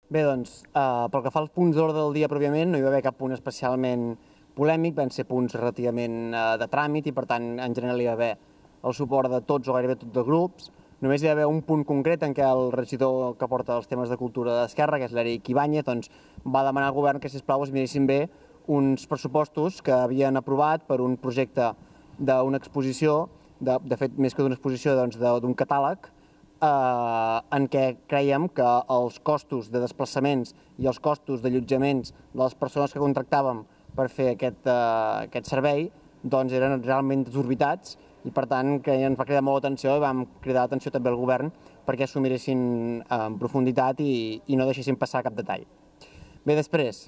Bé, doncs, pel que fa als punts d'ordre del dia pròpiament, no hi va haver cap punt especialment polèmic, van ser punts relativament de tràmit i, per tant, en general hi va haver el suport de tots o gairebé tots els grups. Només hi va haver un punt concret en què el regidor que porta els temes de cultura d'Esquerra, que és l'Eric Ibáñez, doncs, va demanar al govern que, sisplau, es miressin bé uns pressupostos que havien aprovat per un projecte d'una exposició, de fet, més que d'una exposició, doncs, d'un catàleg, en què creiem que els costos de desplaçaments i els costos d'allotjaments de les persones que contractàvem per fer aquest servei doncs eren realment desorbitats i, per tant, que ens va cridar molt l'atenció i vam cridar l'atenció també al govern perquè s'ho miressin en profunditat i no deixessin passar cap detall. Bé, després,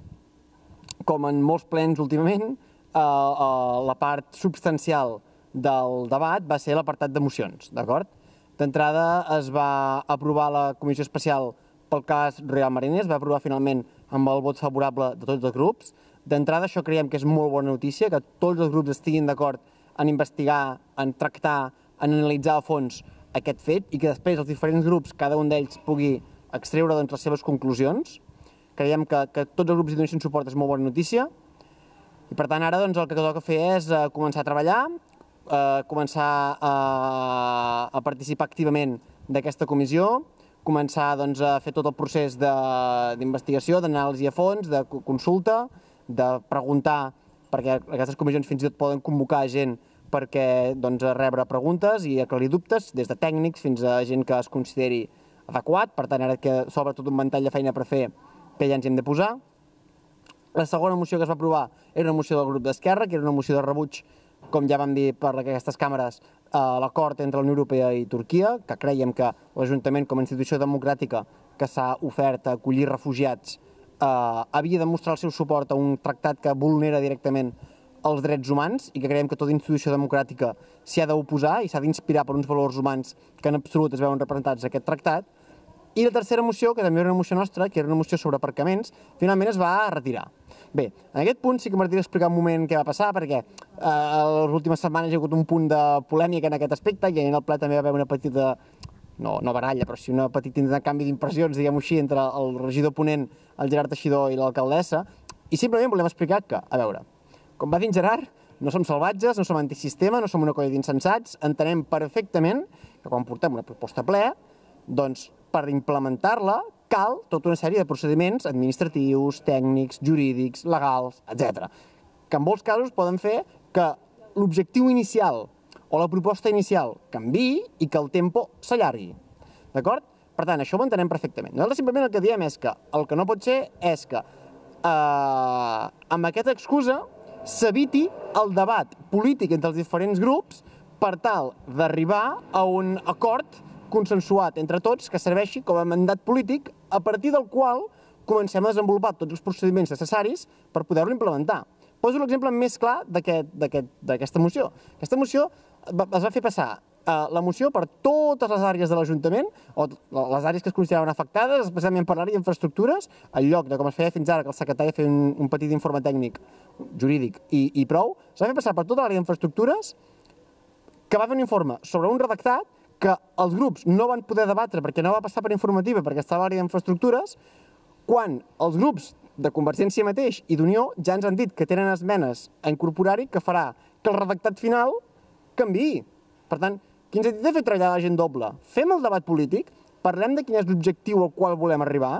com en molts plens últimament, la part substancial del debat va ser l'apartat de mocions, d'acord? D'entrada es va aprovar la comissió especial pel cas Real Mariners, va aprovar finalment amb el vot favorable de tots els grups. D'entrada això creiem que és molt bona notícia, que tots els grups estiguin d'acord en investigar, en tractar, en analitzar a fons aquest fet i que després els diferents grups, cada un d'ells pugui extreure les seves conclusions. Creiem que tots els grups hi donessin suport és molt bona notícia i, per tant, ara el que toca fer és començar a treballar, començar a participar activament d'aquesta comissió, començar a fer tot el procés d'investigació, d'anàlisi a fons, de consulta, de preguntar, perquè aquestes comissions fins i tot poden convocar gent perquè rebre preguntes i aclarir dubtes, des de tècnics fins a gent que es consideri adequat. Per tant, ara que s'obre tot un ventall de feina per fer, que ja ens hi hem de posar. La segona moció que es va aprovar era una moció del grup d'Esquerra, que era una moció de rebuig, com ja vam dir per aquestes càmeres, l'acord entre la Unió Europea i Turquia, que creiem que l'Ajuntament, com a institució democràtica que s'ha ofert a acollir refugiats, havia de mostrar el seu suport a un tractat que vulnera directament els drets humans i que creiem que tota institució democràtica s'hi ha d'oposar i s'ha d'inspirar per uns valors humans que en absolut es veuen representats en aquest tractat. I la tercera moció, que també era una moció nostra, que era una moció sobre aparcaments, finalment es va retirar. Bé, en aquest punt sí que m'agradaria explicar un moment què va passar, perquè les últimes setmanes hi ha hagut un punt de polèmica en aquest aspecte i en el ple també va haver una petita, no baralla, però sí una petita canvi d'impressions, diguem-ho així, entre el regidor ponent, el Gerard Teixidor i l'alcaldessa, i simplement volem explicar que, a veure, com va dir en Gerard, no som salvatges, no som antisistema, no som una colla d'insensats, entenem perfectament que quan portem una proposta a ple, doncs per implementar-la cal tota una sèrie de procediments administratius, tècnics, jurídics, legals, etc. Que en molts casos poden fer que l'objectiu inicial o la proposta inicial canviï i que el tempo s'allargui. D'acord? Per tant, això ho entenem perfectament. Nosaltres simplement el que diem és que el que no pot ser és que amb aquesta excusa s'eviti el debat polític entre els diferents grups per tal d'arribar a un acord consensuat entre tots que serveixi com a mandat polític a partir del qual comencem a desenvolupar tots els procediments necessaris per poder-lo implementar. Poso l'exemple més clar d'aquesta moció. Aquesta moció es va fer passar la moció per totes les àrees de l'Ajuntament, o les àrees que es consideraven afectades, especialment per l'àrea d'infraestructures, en lloc de com es feia fins ara, que el secretari feia un petit informe tècnic, jurídic i prou, es va fer passar per tota l'àrea d'infraestructures, que va fer un informe sobre un redactat que els grups no van poder debatre perquè no va passar per informativa perquè estava a l'àrea d'infraestructures, quan els grups de Convergència mateix i d'Unió ja ens han dit que tenen esmenes a incorporar-hi que farà que el redactat final canviï. Per tant, qui ens ha dit de fer treballar la gent doble? Fem el debat polític, parlem de quin és l'objectiu al qual volem arribar,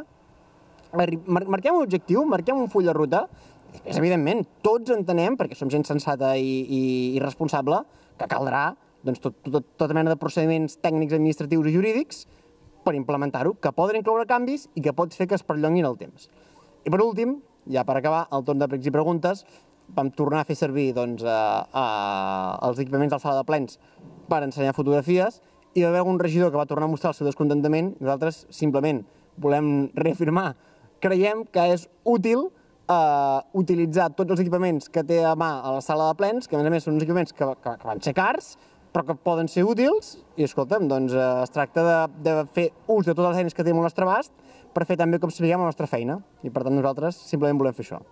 marquem un objectiu, marquem un full de ruta, després, evidentment, tots entenem, perquè som gent sensata i responsable, que caldrà tota mena de procediments tècnics, administratius i jurídics per implementar-ho, que poden incloure canvis i que pots fer que es perllonguin el temps. I per últim, ja per acabar, el torn de pregs i preguntes, vam tornar a fer servir els equipaments de la sala de plens per ensenyar fotografies i va haver un regidor que va tornar a mostrar el seu descontentament. Nosaltres simplement volem reafirmar, creiem que és útil utilitzar tots els equipaments que té a mà a la sala de plens, que a més són uns equipaments que van ser cars, però que poden ser útils, i escolta'm, es tracta de fer ús de totes les eines que tenim al nostre abast per fer també com sapiguem la nostra feina, i per tant nosaltres simplement volem fer això.